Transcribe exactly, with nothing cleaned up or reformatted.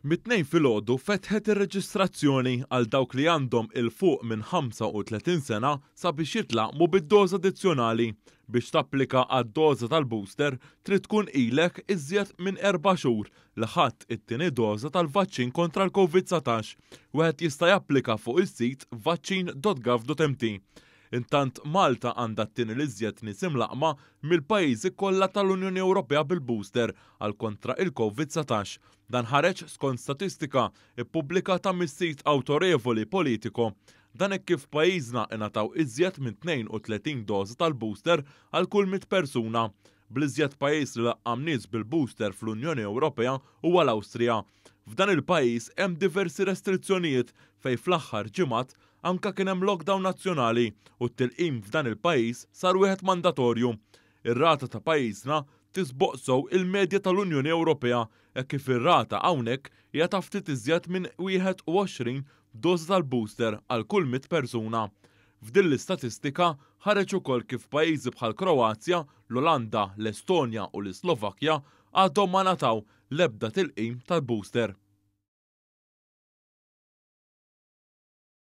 Mit-Tnejn filgħodu fetħet ir-reġistrazzjoni għal dawk li għandhom 'il fuq minn ħamsa u tletin sena sabiex jitlaqqmu bid-doża addizzjonali. Biex tapplika għad-doża tal-booster trid tkun ilek iżjed minn erba' xhur li ħadt it-tieni doża tal-vaċċin kontra l-Covid dsatax. Wieħed jista' japplika fuq is-sit vaċċin dot gov dot M T. Intant Malta għandha t-tieni l-iżjed nies imlaqqma mill-pajjiżi kollha tal-Unjoni Ewropea bil-booster għal kontra il-Covid dsatax. Dan ħareġ skont statistika ippubblikata mis-sit awtorevoli Politico. Dan hekk kif pajjiżna ingħataw iżjed minn tnejn u tletin doża tal-booster għal kull mitt persuna. Bl-iżjed pajjiż li laqqam nies bil-booster fl-Unjoni Ewropea huwa l-Awstrija. F'dan il-pajjiż hemm diversi restrizzjonijiet fejn fl-aħħar ġimgħat anka kien hemm lockdown nazzjonali u t-tilqim f'dan il-pajjiż sar wieħed mandatorju. Ir-rata ta' pajjiżna tisboq sew il-medja tal-Unjoni Ewropea hekk kif ir-rata hawnhekk hija ta' ftit iżjed minn wieħed u għoxrin doża tal-booster għal kull mitt persuna. F'din l-istatistika ħareġ ukoll kif pajjiżi bħal Kroazja, l-Olanda, l-Estonja u l-Slovakkja għadhom ma ngħataw l-ebda tilqim tal-booster.